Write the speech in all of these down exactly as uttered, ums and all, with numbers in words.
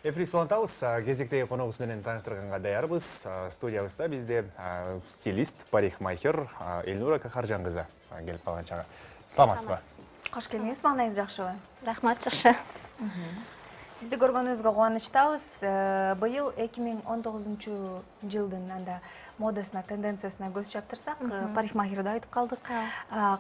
Эфир Солонтабыз кезектеги коногубуз менен тааныштырганга даярбыз. Студиябызда бизде стилист, парикмахер Элнура Кахаржан кызы келип калган чагы. Саламатсызбы? Кош келиңиз, маанайыңыз жакшыбы? Рахмат, жакшы. Сизди көргөнүбүзгө кубанычтабыз. Быйыл эки миң он тогузунчу жылдын анда модасына, тенденциясына көз чаптырсак, парикмахерди айтып калдык.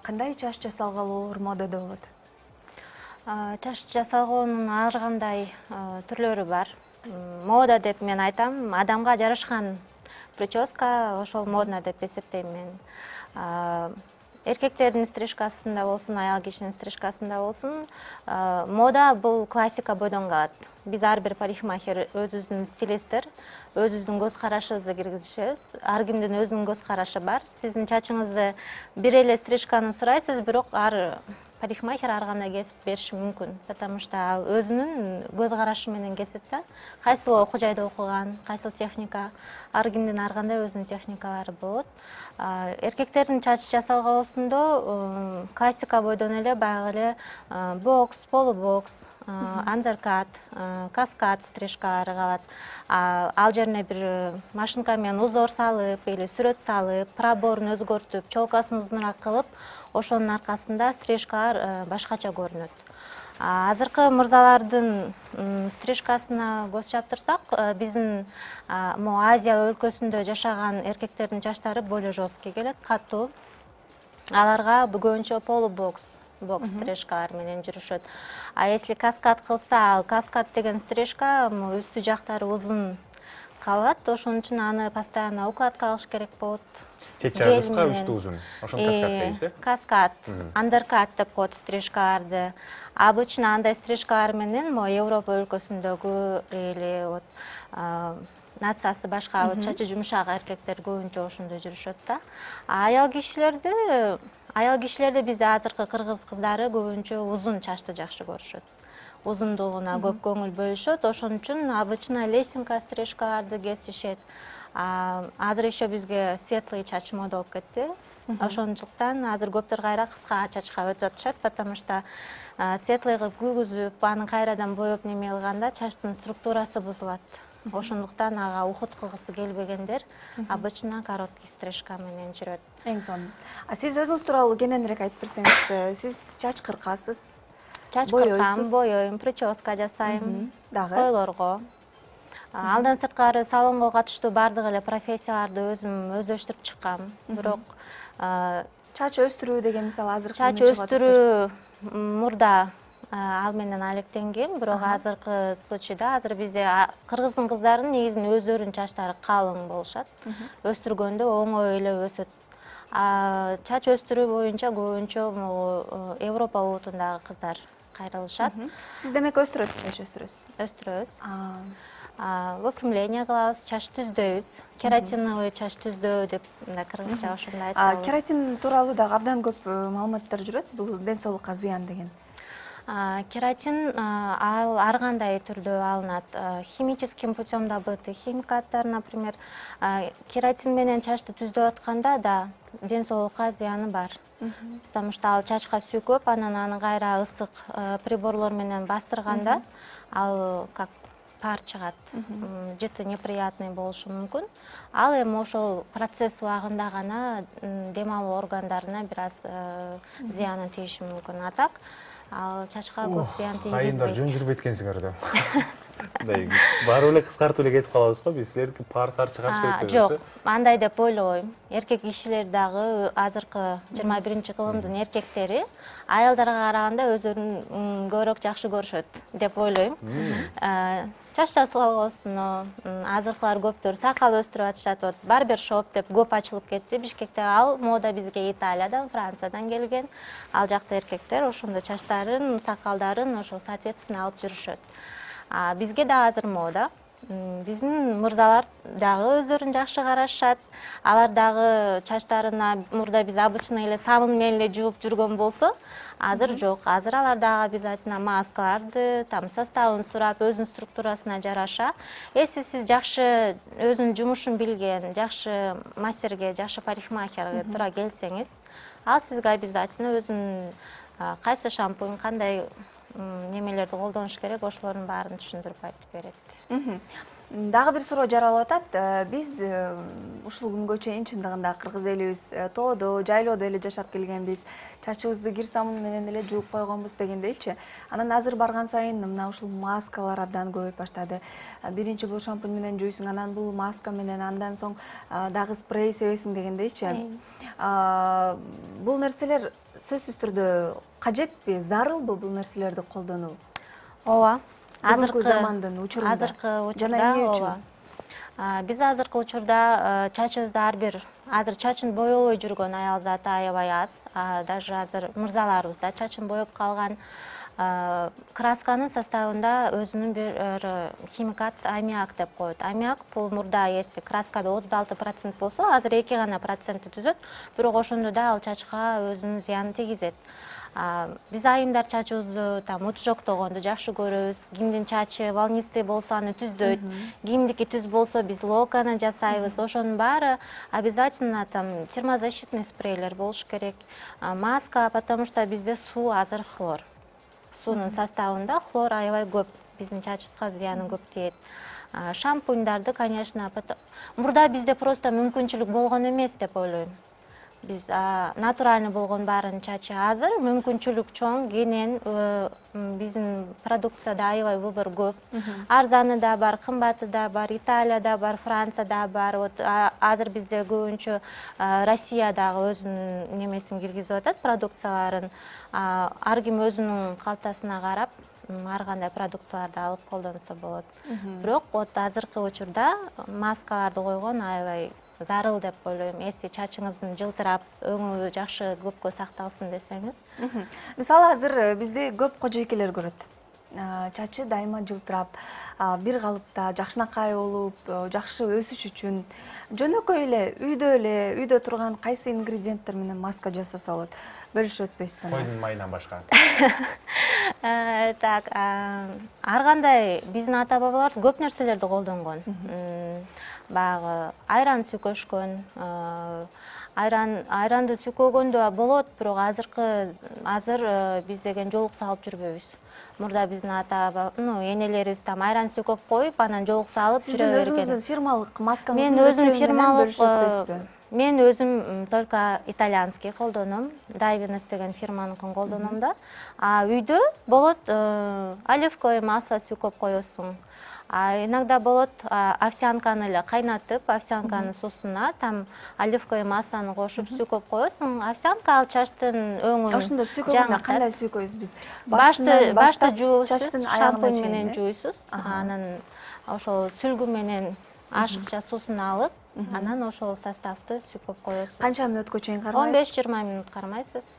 Кандай чач жасалгалоор модада болот? Чач жасалгоонун ар кандай түрлөрү бар. Мода деп мен айтам, адамга жарашкан прическа ошол модно деп эсептейм мен. Эркектердин стрижкасында болсун, аял кишинин стрижкасында болсун, мода бул классика бойдон калат. Биз ар бир парикмахер өзүбүздүн стилисттер, өзүбүздүн көз карашыбызды киргизишебиз. Ар кимдин өзүнүн көз карашы бар. Сиздин чачыңызды бир эле стрижканы сурайсыз, бирок ар парикмахер ар кандай кесип бериши мүмкүн, потому что ал өзүнүн көз карашы менен кесет да. Кайсыл окуу жайда окуган, кайсыл техника, ар кимдин ар кандай өзүнүн техникалары болот. Эркектердин чач жасалгалоосунда классика бойдон эле баягы эле бокс, полубокс, андеркат, каскад стрижкалары калат. Ал жерине бир машинка менен узор салып или сүрөт салып, проборун өзгөртүп, челкасын узунураак кылып, ошонун аркасында стрижкалар башкача көрүнөт. Азыркы мырзалардын стрижкасына көз чаптырсак, биздин Азия өлкөсүндө жашаган эркектердин чачтары более жесткий келет, катуу. Аларга көбүнчө полубокс, бокс стрижкалар менен жүрүшөт. А если каскад кылса, ал каскад деген стрижка үстү жактары узун калат, ошон үчүн аны постоянно укладка кылыш керек болот. Чет жагы кыска, үстү узун. Ошону каскад дейбиз, э? Каскад, андеркат деп коет стрижкаларды. Обычно андай стрижкалар менен мо Европа өлкөсүндөгү или вот нациясы башка чачы жумшак эркектер көбүнчө ошондой жүрүшөт да. Аял кишилерди, аял кишилерди бизде азыркы кыргыз кыздары көбүнчө узун чачты жакшы көрүшөт. Узундугуна көп көңүл бөлүшөт, ошон үчүн обычно лесинка стрижкаларды кесишет. Азыр еще бизге светлый чач мода болуп кетти. Ошондуктан азыр көптөр кайра кыска чачка өтүп атышат, потому что светлый кылып күйгүзүп, аны кайрадан боеп неме кылганда чачтын структурасы бузулат. Ошондуктан ага ухут кылгысы келбегендер обычно короткий стрижка менен жүрөт. Эң сонун. А сиз өзүңүз тууралуу кененирээк айтып берсеңиз, сиз чач кыркасыз? Чач кыркам, боёйм, прическа жасайм, тойлорго. Алдан сырткары салонго катыштуу бардык эле профессияларды өзүм өздөштүрүп чыккам. Бирок чач өстүрүү деген мисалы азыр чач өстүрүү мурда ал менен алектенгем, бирок азыркы случайда азыр бизде кыргыздын кыздарынын негизинен өздөрүнүн чачтары калың болушат. Өстүргөндө оңой эле өсөт. Чач өстүрүү боюнча көбүнчө Европа улутундагы кыздар кайрылышат. Сиз демек өстүрөсүз, чач өстүрөсүз? Өстүрөбүз. Выпрямление кылабыз, чач түздөйбүз. Кератиновый чач түздөө деп кыргызча ошондой айтсак. Кератин тууралуу дагы абдан көп маалыматтар жүрөт, бул ден соолукка зыян деген. Кератин ал ар кандай түрдө алынат. Химическим путем добытый химикаттар, например, кератин менен чачты түздөп атканда да ден соолукка зыяны бар. Потому что ал чачка сүйкөп, анан аны кайра ысык приборлор менен бастырганда ал как пар чыгат. Жыты неприятный болушу мүмкүн. Ал эми ошол процесс убагында гана дем алуу органдарына бир аз зыяны тийиши мүмкүн. А так ал чачка көп зыян тийгизбейт. Айындар жөн жүрбөйт экенсиңер да. Баары эле кыскартып эле кетип калабыз го, биз силердики пар сар чыгарыш керек деп Жок, андай деп ойлобойм. Эркек кишилер дагы азыркы жыйырма биринчи кылымдын эркектери аялдарга караганда өздөрүн көбүрөөк жакшы көрүшөт деп ойлойм. Чач жасалгосуна азыркылар көптөр сакал өстүрүп атышат. Вот барбершоп деп көп ачылып кетти Бишкекте. Ал мода бизге Италиядан, Франциядан келген. Ал жакта эркектер ошондо чачтарын, сакалдарын ошол соответственно алып жүрүшөт. Бизге да азыр мода. Биздин мырзалар дагы өздөрүн жакшы карашат. Алар дагы чачтарына мурда биз обычно эле сабын менен эле жууп жүргөн болсо, азыр жок. Азыр алар дагы обязательно маскаларды, там составын сурап, өзүнүн структурасына жараша. Эси сиз жакшы өзүнүн жумушун билген, жакшы мастерге, жакшы парикмахерге туура келсеңиз, ал сизге обязательно өзүнүн кайсы шампунь, кандай немелерди колдонуш керек, ошолордун баарын түшүндүрүп айтып берет. Дагы бир суроо жаралып атат. Биз ушул күнгө чейин чындыгында кыргыз элибиз тоодо, жайлоодо эле жашап келгенбиз. Чачыбызды кир самун менен эле жууп койгонбуз дегендейчи. Анан азыр барган сайын мына ушул маскалар абдан көбөйүп баштады. Биринчи бул шампунь менен жуйсуң, анан бул маска менен, андан соң дагы спрей себесиң дегендейчи. Бул нерселер сөзсүз түрдө кажетпи, зарылбы бул нерселерди колдонуу? Ооба. Азыркы замандын учурунда. Азыркы учурда ооба. Биз азыркы учурда чачыбызды ар бир азыр чачын боебой жүргөн аял заты аябай аз. Даже азыр мырзаларыбыз да чачын боеп калган. Красканын составында өзүнүн бир химикат аммиак деп коет. Аммиак бул мурда эси краскада отуз алты процент болсо, азыр эки гана процентти түзөт. Бирок ошондо да ал чачка өзүнүн зыянын тийгизет. Биз айымдар чачыбызды там утушоктогонду жакшы көрөбүз. Кимдин чачы волнистый болсо аны түздөйт. Кимдики түз болсо биз локаны жасайбыз. Ошонун баары обязательно там термозащитный спрейлер болуш керек. Маска, потому что бизде суу азыр хлор. Суунун составында хлор аябай көп. Биздин чачыбызга зыяны көп тиет. Шампуньдарды, конечно, мурда бизде просто мүмкүнчүлүк болгон эмес деп ойлойм. Биз натуральный болгон баарын чачы азыр, мүмкүнчүлүк чоң, кенен биздин продукцияда аябай выбор көп. Арзаны да бар, кымбаты да бар, Италияда бар, Францияда бар. Вот азыр бизде көбүнчө Россиядагы өзүнүн немесин киргизип атат, продукцияларын. Ар ким өзүнүн калтасына карап, ар кандай продукцияларды алып колдонсо болот. Бирок вот азыркы учурда маскаларды койгон аябай зарыл деп ойлойм. Эси чачыңыздын жылтырап, өңү жакшы көпкө сакталсын десеңиз. Мисалы азыр бизде көп кожойкелер көрөт. Чачы дайыма жылтырап, бир калыпта жакшынакай болуп, жакшы өсүш үчүн жөнөкөй эле, үйдө эле, үйдө турган кайсы ингредиенттер менен маска жасаса болот? Бөлүшүп өтпөйсүзбү? Койдун майынан башка. Так, ар кандай биздин ата-бабаларыбыз көп нерселерди колдонгон. Баягы айран сүйкөшкөн, айран айранды сүйкөгөндө болот, бирок азыркы азыр биз деген жоолукса алып жүрбөйбүз. Мурда биздин ата, ну, энелерибиз там айран сүйкөп коюп, анан жоолукса алып жүрө берген. Сиздин өзүңүздүн фирмалык маскаңыз мен өзүм фирмалык Мен өзүм только итальянский колдоном, Дайвинес деген фирманыкын колдоном да. А үйдө болот оливковое масло сүйкөп коесуң. А иногда болот овсянканы эле кайнатып, овсянканын суусуна там оливковое маслону кошуп сүйкөп коесуң. Овсянка ал чачтын өңүн. Ошондо сүйкөгөндө кандай сүйкөйбүз биз? Башты башты жуусуз, шампунь менен жуйсуз. Анан ошол сүлгү менен ашыкча суусун алып, анан ошол составты сүйкөп коесуз. Канча мүнөткө чейин кармайсыз? он беш жыйырма мүнөт кармайсыз.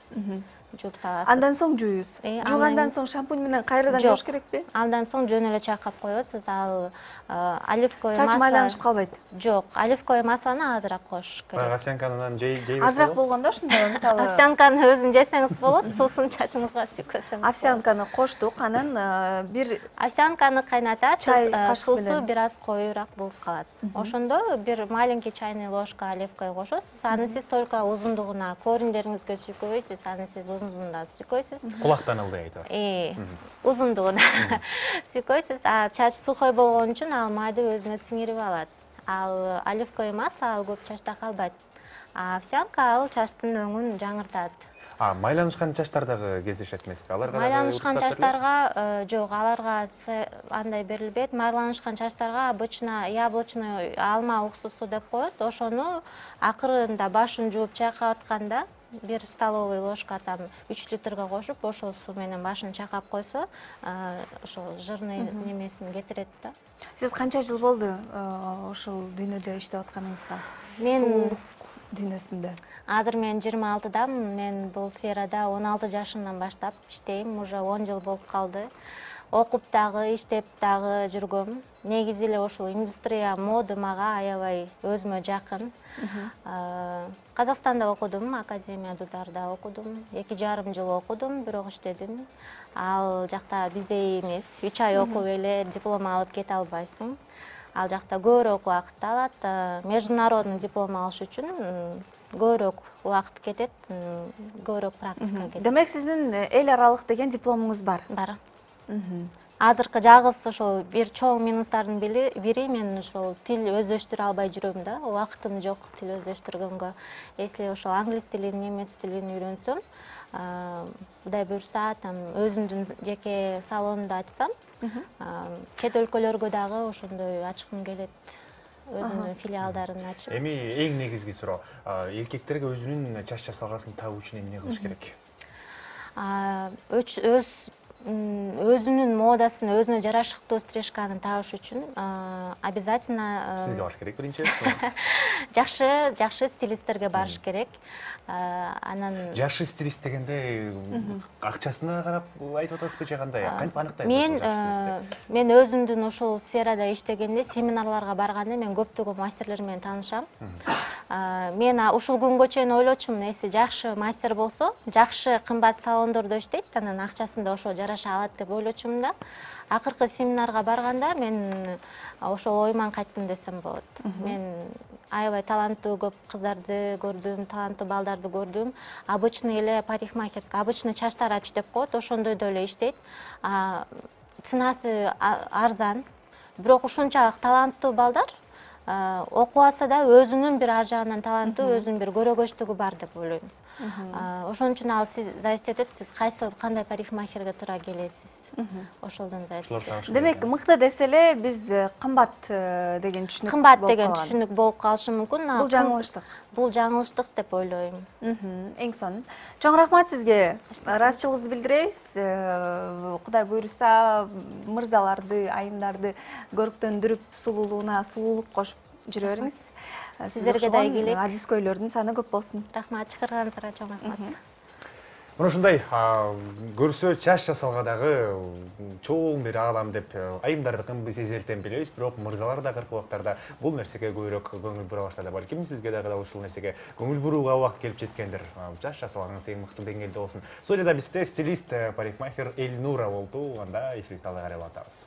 Жууп саласыз. Андан соң жуюсуз. Жуугандан соң шампунь менен кайрадан жууш керекпи? Андан соң жөн эле чайкап коесуз. Ал оливковое масло. Чач майланышып калбайт? Жок, оливковое маслону азыраак коюш керек. Баягы овсянканы жейбиз. Азыраак болгондо ошондо мисалы овсянканы өзүн жесеңиз болот, суусун чачыңызга сүйкөсөңүз. Овсянканы коштук, анан бир овсянканы кайнатасыз, суусу бир аз коюураак болуп калат. Ошондо бир маленький чайный ложка оливковое кошосуз. Аны сиз только узундугуна, кориндериңизге сүйкөбөйсүз, аны сиз узундугунда сүйкөйсүз. Кулактан ылдый айтып. Э, узундугуна сүйкөйсүз. А чач сухой болгон үчүн ал майды өзүнө сиңирип алат. Ал оливковое масло ал көп чачта калбайт. А овсянка ал чачтын өңүн жаңыртат. А майланышкан чачтар дагы кездешет эмеспи? Аларга майланышкан чачтарга жок, аларга андай берилбейт. Майланышкан чачтарга обычно яблочный алма уксусу деп коет. Ошону акырында башын жууп чайкап атканда бир столовый ложка там үч литрге кошуп, ошол суу менен башын чайкап койсо, ошол жирный немесин кетирет да. Сиз канча жыл болду ошол дүйнөдө иштеп атканыңызга? Мен дүйнөсүндө. Азыр мен жыйырма алтыдамын. Мен бул сферада он алты жашымдан баштап иштейм. Уже он жыл болуп калды. Окуп дагы, иштеп дагы жүргөм. Негизи эле ошол индустрия, мода мага аябай өзүмө жакын. Казакстанда окудум, Академия Дударда окудум. эки жарым жыл окудум, бирок иштедим. Ал жакта биздей эмес. үч ай окуп эле диплом алып кете албайсың. Ал жакта көбүрөөк убакыт алат. Международный диплом алыш үчүн көбүрөөк убакыт кетет, көбүрөөк практика кетет. Демек сиздин эл аралык деген дипломуңуз бар? Бар. Азыркы жалгыз ошол бир чоң минустардын бири мен ошол тил өздөштүрө албай жүрөм да, убакытым жок тил өздөштүргөнгө. Если ошол англис тилин, немец тилин үйрөнсөм, Кудай буюрса, там өзүмдүн жеке салонумду ачсам, чет өлкөлөргө дагы ошондой ачкым келет. Өзүнүн филиалдарын ачып. Эми эң негизги суроо, эркектерге өзүнүн чач жасалгасын табуу үчүн эмне кылыш керек? Өз өзүнүн модасын, өзүнө жарашыктуу стрижканы табыш үчүн обязательно сизге барыш керек биринчи. Жакшы, жакшы стилисттерге барыш керек. Анан жакшы стилист дегенде акчасына карап айтып атасызбы же кандай? Кантип аныктайбыз мен ошол жакшы стилистти? Мен өзүмдүн ушул сферада иштегенде, семинарларга барганда мен көптөгөн мастерлер менен таанышам. Мен ушул күнгө чейин ойлочумун, эси жакшы мастер болсо, жакшы кымбат салондордо иштейт, анан акчасын да ошо жараша алат деп ойлочумун да. Акыркы семинарга барганда мен ошол оюман кайттым десем болот. Мен аябай таланттуу көп кыздарды көрдүм, таланттуу балдарды көрдүм. Обычный эле парикмахерская, обычный чач тарач деп коет, ошондой эле иштейт. Ценасы арзан, бирок ушунчалык таланттуу балдар окуп алса да өзүнүн бир ар жагынан таланттуу, өзүнүн бир көрөгөчтүгү бар деп ойлойм. Ошон үчүн ал сиз зависит этет, сиз кайсы кандай парикмахерге туура келесиз. Ошолдон зависит этет. Демек, мыкты десе эле биз кымбат деген түшүнүк кымбат деген түшүнүк болуп калышы мүмкүн. Бул жаңылыштык. Бул жаңылыштык деп ойлойм. Эң сонун. Чоң рахмат сизге. Ыраазычылыгыбызды билдиребиз. Кудай буюрса, мырзаларды, айымдарды көрктөндүрүп, сулуулугуна сулуулук кошуп жүрө бериңиз. Сиздерге да ийгилик. Адискөйлөрдүн саны көп болсун. Рахмат, чакырганыңыздарга чоң рахмат. Мына ушундай көрсө чач жасалга дагы чоң бир аалам деп айымдардыкын биз эзелтен билебиз, бирок мырзалар да акыркы убактарда бул нерсеге көбүрөөк көңүл бура баштады. Балким сизге дагы ушул нерсеге көңүл бурууга убакыт келип жеткендир. Чач жасалганыңыз эң мыкты деңгээлде болсун. Студияда бизде стилист, парикмахер Эльнура болду. Анда эфирибизди алга карай улантабыз.